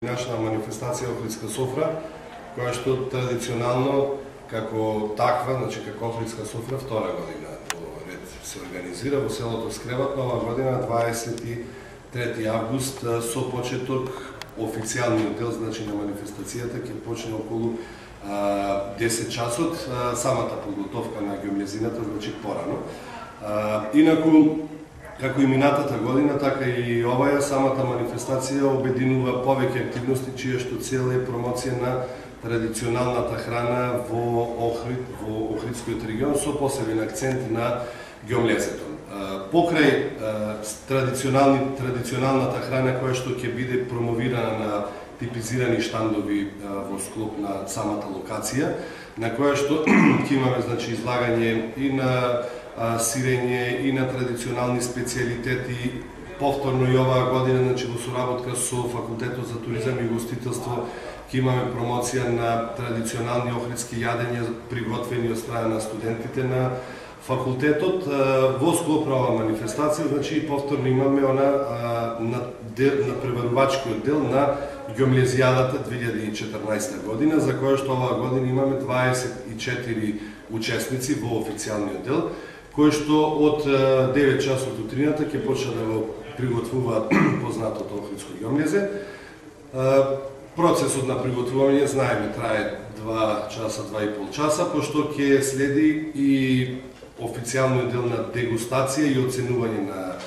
Нашна манифестација Охридска софра, која што традиционално како таква, значи како Охридска софра, втора година во ред се организира во селото Скребат, оваа година 23 август со почеток официјалниот дел, значи на манифестацијата ќе почне околу 10 часот, самата подготовка на геомлезината значи порано. Инаку како и минатата година, така и оваја самата манифестација обединува повеќе активности чија што цел е промоција на традиционалната храна во Охрид, во Охридскиот регион со посебен акцент на геомлезето. Покрај традиционалната храна која што ќе биде промовирана на типизирани штандови во склоп на самата локација, на која што ќе имаме значи излагање и на сирење и на традиционални специјалитети. Повторно и оваа година, значи во соработка со Факултетот за туризам и гостителство, ќе имаме промоција на традиционални охридски јадења приготвени од страна на студентите на факултетот. Во склоп на оваа манифестација, значи повторно имаме на преварувачкиот дел на Геомлезијадата 2014 година, за која што оваа година имаме 24 учесници во официјалниот дел, кои што од 9 часот утрината ќе почнат да го приготвуваат познатото охридско геомлезе. Процесот на приготвување, знаеме, трае 2 часа, 2,5 часа, пошто ќе следи и официјалниот дел на дегустација и оценување на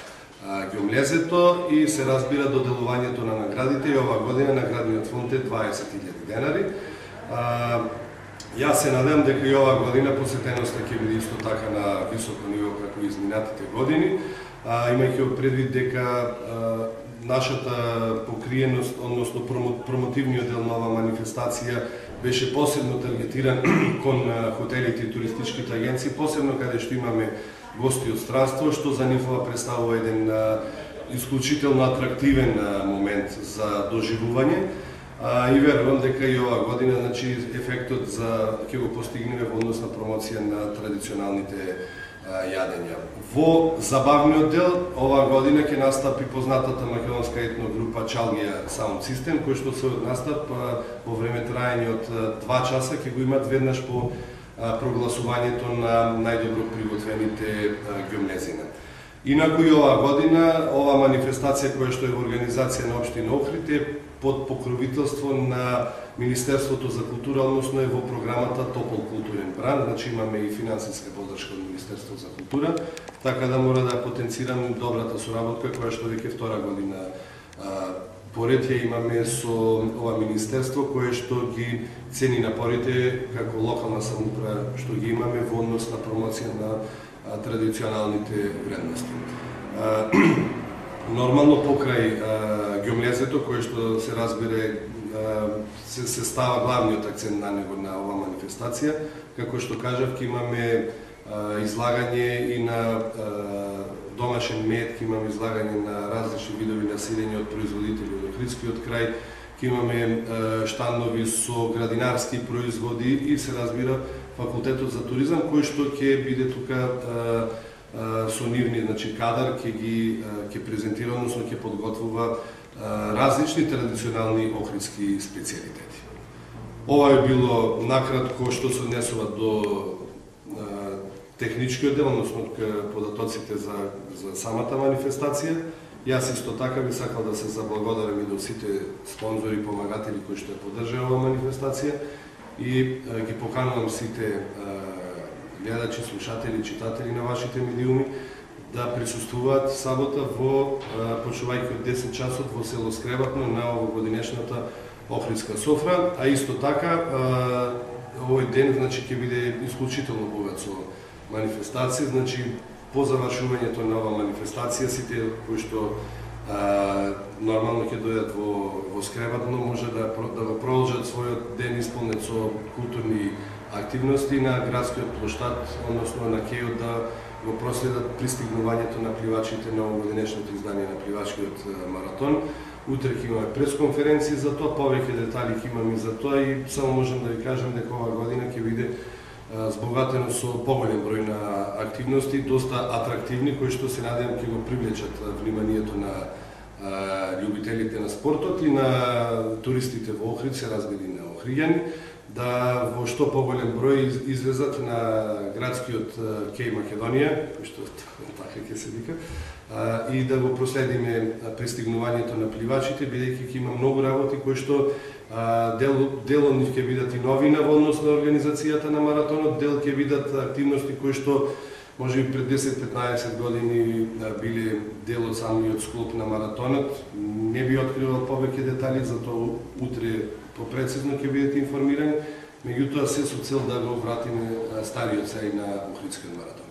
геомлезето и се разбира доделувањето на наградите, и оваа година наградниот фонд е 20.000 денари. Јас се надевам дека и оваа година посетеноста ќе биде исто така на високо ниво како и изминатите години, имајќи предвид дека нашата покриеност, односно промотивниот дел на оваа манифестација беше посебно таргетиран кон хотелите и туристичките агенции, посебно каде што имаме гости од странство, што за нив представува еден исклучително атрактивен момент за доживување. И верувам дека и оваа година значи ефектот ќе го постигнеме во однос на промоција на традиционалните јадења. Во забавниот дел оваа година ќе настапи познатата македонска етногрупа Чалгија Саунд Систем, кој што се настап во време траење од 2 часа ќе го имат веднаш по прогласувањето на најдобро приготвените геомлезина. Инаку и оваа година оваа манифестација која што е во организација на општина Охрид е под покровителство на Министерството за култура, односно е во програмата Топол културен бранд, значи имаме и финансиска поддршка од Министерството за култура, така да мора да потенцирам добрата соработка која што веќе втора година поред ја имаме со ова министерство, кое што ги цени напорите како локална самоуправа што ги имаме во однос на промоција на традиционалните вредности. Нормално покрај геомлезето, кое што се разбира се става главниот акцент на него на оваа манифестација, како што кажав, ќе имаме излагање и на домашен мед, ќе имаме излагање на различни видови на сирење од производители од Охридскиот крај, ќе имаме штандови со градинарски производи и се разбира Факултетот за туризам, кој што ќе биде тука со нивни значи кадар ќе презентира, односно ќе подготвува различни традиционални охридски специјалитети. Ова е било накратко што се однесува до техничкиот дел, односно податоците за самата манифестација. Јас исто така би сакал да се заблагодарам и до сите спонзори и помагатели кои што ја поддржаа оваа манифестација и ги поканувам сите гледачи, слушатели, читатели на вашите медиуми да присуствуваат сабота во почнувајќи од 10 часот во село Скребатно на овогодинешната Охридска софра, а исто така овој ден значи ќе биде исклучително богат со манифестација, значи по завршувањето на оваа манифестација сите кои што нормално ќе дојдат во Скребатно може да го продолжат својот ден исполнет со културни активности на градскиот плоштад, односно на кејот да го проследат пристигнувањето на пливачите на овогодинешното издание на пливачкиот маратон. Утре ќе имаме пресконференција за тоа, повеќе детали ќе имаме за тоа и само можам да ви кажам дека оваа година ќе биде збогатено со поголем број на активности, доста атрактивни, кои што се надевам ќе го привлечат вниманието на љубителите на спортот и на туристите во Охрид се разбили на Охриѓани, да во што поголем број излезат на градскиот Кеј Македонија, кој што така ќе се вика, и да го проследиме пристигнувањето на пливачите, бидејќи ќе има многу работи кои што дел од нив ќе бидат и новина во однос на организацијата на маратонот, дел ќе бидат активности кои што може би пред 10-15 години биле дел од самиот склоп на маратонот. Не би откривал повеќе детали, затоа утре попрецизно ќе бидете информирани, меѓутоа се со цел да го вратиме стариот сеј на Охридскиот маратон.